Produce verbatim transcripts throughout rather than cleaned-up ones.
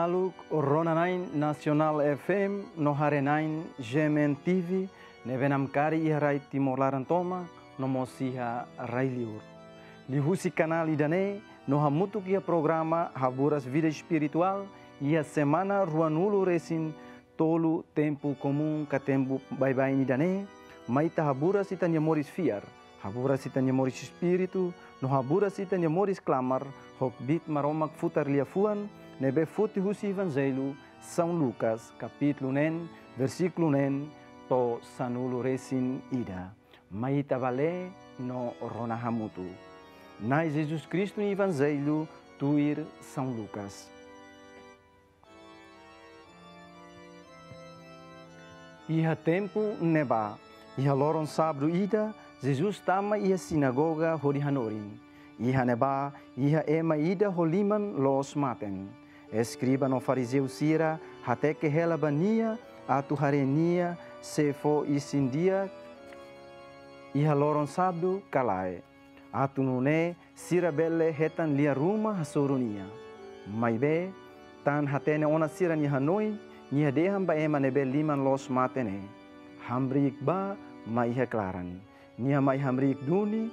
Maluk rona-na'in Nasionál F M no haree-na'in G M N T V ne'ebé namkari iha rai Timor laran tomak no mós iha rai-liur. Liuhusi kanál ida-ne'e no hamutuk iha programa Haburas Vida Espirituál iha semana ruanulu-resin-tolu tempu komún ka tempu baibain ida-ne'e, mai ita haburas ita-nia moris fiar, haburas ita-nia moris espíritu, no haburas ita-nia moris klamar ho kbiit Maromak Futar Liafuan ne'ebé foti husi Evanjellu São Lucas, kapítulu neen, versíkulu neen to'o sanulu-resin-ida. Mai ita bá lee no rona hamutuk. Na'i Jesus Kristu nia Evanjellu tuir São Lucas. Iha tempu ne'ebá, iha loron sábadu ida, Jesus tama iha sinagoga hodi hanorin. Iha ne'ebá, iha ema ida ho liman loos maten. Eskriba no farizeu sira hateke hela ba nia atu haree nia sei fó isin di'ak iha loron sábadu ka lae, atu nune'e sira bele hetan lia ruma hasoru nia. Maibé, tan hatene ona sira-nia hanoin, nia dehan ba ema ne'ebé liman loos maten ne'e: Hamriik bá mai iha klaran. Nia mai hamriik duni.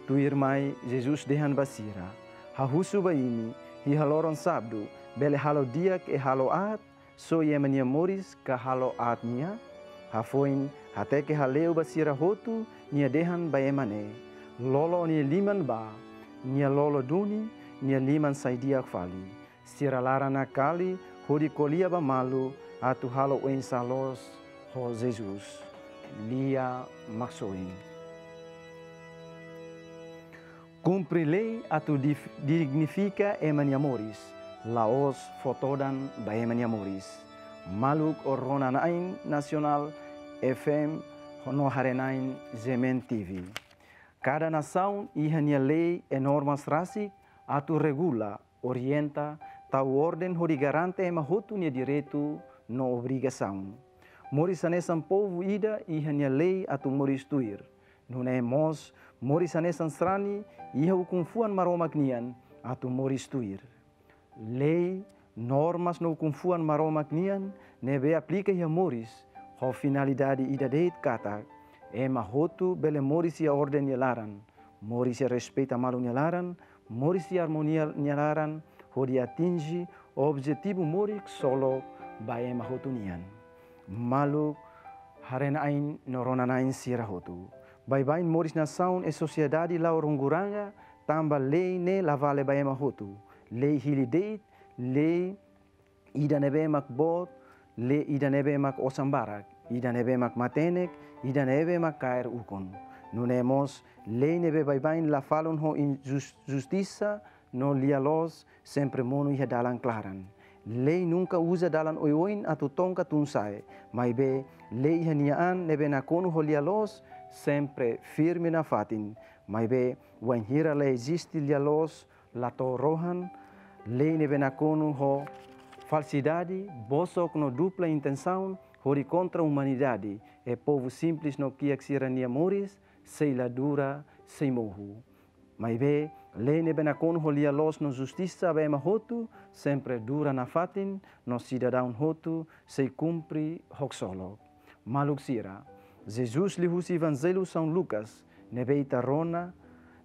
Tuirmai Jesus dehan ba sira: Ha'u husu ba imi, iha loron sábadu bele halo di'ak i halo aat, soi ema nia moris ka halo aat nia? Hafoin hateke hale'u ba sira hotu, nia dehan ba ema ne'e: Loloos nia liman bá. Nia lolo duni, nia liman sai di'ak fali. Sira laran nakali hodi ko'alia ba malu atu halo oinsá loos ho Jesus. Lia Maksoin. Kumpre lei atu dif-, dignifika ema nia moris, la'ós fó todan ba ema nia moris. Maluk rona-na'in Nasionál F M no haree-na'in G M N T V. Kada nasaun iha nia lei i normas rasik atu regula, orienta, tau orden hodi garante ema hotu nia direitu no obrigasaun. Moris hanesan povu ida iha nia lei atu moris tuir. Nune'e mós, moris hanesan sarani iha ukun-fuan Maromak nian atu moris tuir. Lei, normas no ukun-fuan Maromak nian ne'ebé aplika iha moris ho finalidade ida de'it katak ema hotu bele moris iha orden nia laran, moris iha respeita malu nia laran, moris iha armonia nia laran, hodi atinje objetivu moris ksolok ba ema hotu nian. Maluk haree-na'in no rona-na'in sira hotu. Baibain moris nasaun i sosiedade la'o ronguranga, tanba lei ne'e la vale ba ema hotu. Lei hili de'it, lei ida ne'ebé mak boot, lei ida ne'ebé mak osan barak, ida ne'ebé mak matenek, ida ne'ebé mak kaer ukun. Nune'e mós, lei ne'ebé baibain la falun ho injus-, justisa no lia-loos, sempre monu iha dalan klaran. Lei nunka uza dalan oioin atu tong ka tun-sa'e, maibé lei iha nia an ne'ebé nakonu ho lia-loos, sempre firme nafatin. Maibé, wainhira la eziste lia-loos, la to'o rohan, lei ne'ebé nakonu ho falsidade, bosok no dupla intensaun, hodi kontra umanidade, i povu simples no kiak sira-nia moris sei la dura, sei mohu. Maibé, lei ne'ebé nakonu ho lia-loos no justisa ba ema hotu, sempre dura nafatin, no sidadaun hotu sei kumpre ho ksolok. Maluk sira, Jesus liuhusi Evanjellu São Lucas, ne'ebé ita rona,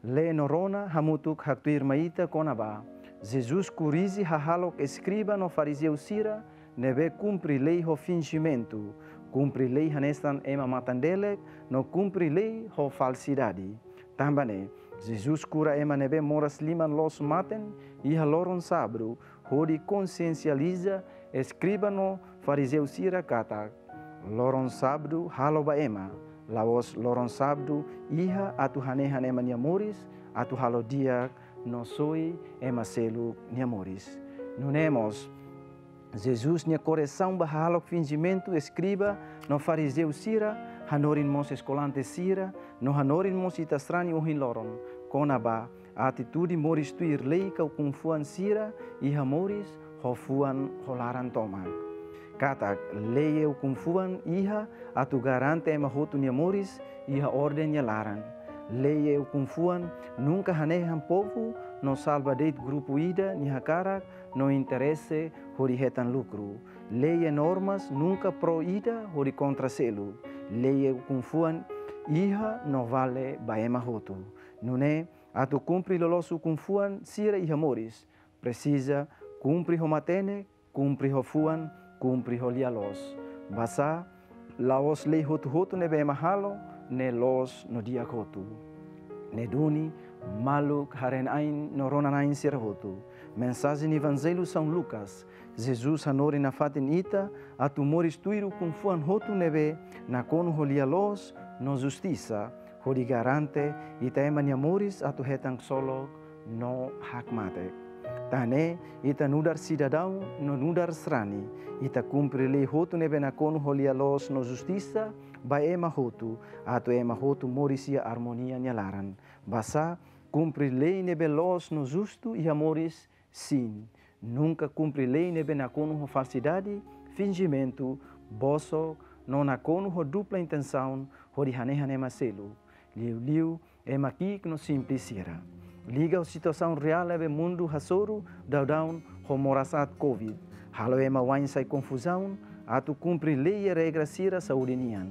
lee no rona hamutuk haktuir mai ita kona-ba Jesus korrije hahalok eskriba no farizeu sira ne'ebé kumpre lei ho finjimentu, kumpre lei hanesan ema matan-delek, no kumpre lei ho falsidade. Tanba ne'e, Jesus kura ema ne'ebé moras liman loos maten iha loron sábadu, hodi konsiensializa eskriba no farizeu sira katak loron sábadu halo ba ema, la'ós loron sábadu iha atu hanehan ema nia moris, atu halo di'ak no soi ema seluk nia moris. Nune'e mós, Jesus nia korresaun ba hahalok finjimentu eskriba no farizeu sira hanorin mós eskolante sira, no hanorin mós ita sarani ohin loron, kona-ba atitude moris tuir lei ka ukun-fuan sira iha moris ho fuan ho laran tomak. Katak lei i ukun-fuan iha atu garante ema hotu nia moris iha orden nia laran. Lei e ukun-fuan nunka hanehan povu no salva de'it grupu ida nia hakarak no interese hodi hetan lukru. Lei e normas nunka pro ida hodi kontra seluk. Lei e ukun-fuan iha no vale ba ema hotu. Nune'e, atu kumpre loloos ukun-fuan sira iha moris, presiza kumpre ho matenek, kumpre ho fuan, kumpre ho lia-loos. Basá, la'ós lei hotu-hotu ne'ebé ema halo ne'e loos no di'ak hotu. Ne'e duni, maluk haree-na'in no rona-na'in sira hotu. Mensajen Evanjellu São Lucas, Jesus hanorin nafatin ita atu moris tuir ukun-fuan hotu ne'ebé nakonu ho lia-loos no justisa, hodi garante ita ema nia moris atu hetan ksolok no hakmatek. Tan ne'e, ita nu'udar sidadaun no nu'udar sarani, ita kumpre lei hotu ne'ebé nakonu ho lia-loos no justisa ba ema hotu, atu ema hotu moris iha armonia nia laran. Basá, kumpre lei ne'ebé loos no justu iha moris, sin. Nunka kumpre lei ne'ebé nakonu ho falsidade, finjimentu, bosok, no nakonu ho dupla intensaun hodi hanehan ema seluk. Liuliu, ema ki'ik no simples sira. Liga ho situasaun reál ne'ebé mundu hasoru daudaun ho moras aat Covid, halo ema wa'in sai konfuzaun atu kumpre lei e regra sira saúde nian.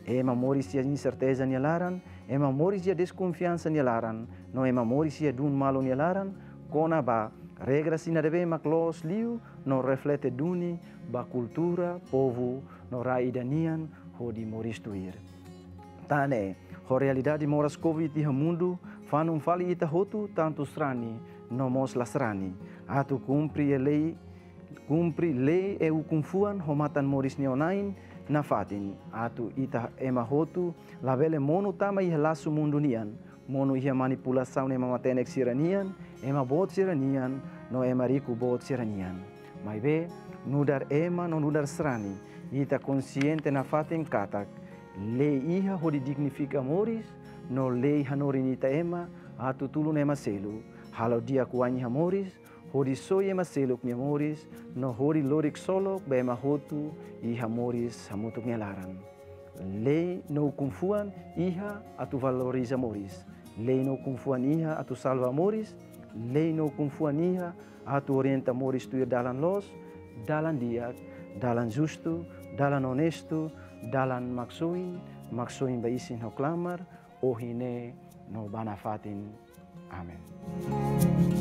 Ema moris iha inserteza nia laran, ema moris iha deskonfiansa nia laran, no ema moris iha duun malu nia laran, kona-ba regra sira ne'ebé mak loos liu no reflete duni ba kultura, povu no rai ida nian hodi moris tuir. Tan ne'e, ho realidade moras Covid iha mundu, fanun fali ita hotu, tantu sarani no mós la sarani, atu kumpre e lei, kumpre lei e ukun-fuan ho matan moris nia oin-na'in nafatin, atu ita ema hotu labele monu tama iha lasu mundu nian, monu iha manipulasaun ema matenek sira-nian, ema boot sira-nian, no ema riku boot sira-nian. Maibé, nu'udar ema no nu'udar sarani, ita konsiente nafatin katak lei iha hodi dignifika moris, no lei hanorin ita ema atu tulun ema seluk, halo di'ak wa'in iha moris, hodi soi ema seluk nia moris, no hodi lori ksolok ba ema hotu iha moris hamutuk nia laran. Lei no ukun-fuan iha atu valoriza moris. Lei no ukun-fuan iha atu salva moris. Lei no ukun-fuan iha atu orienta moris tuir dalan loos, dalan di'ak, dalan justu, dalan onestu, dalan maksoin, maksoin ba isin ho klamar, ohin ne'e no ba nafatin. Amen.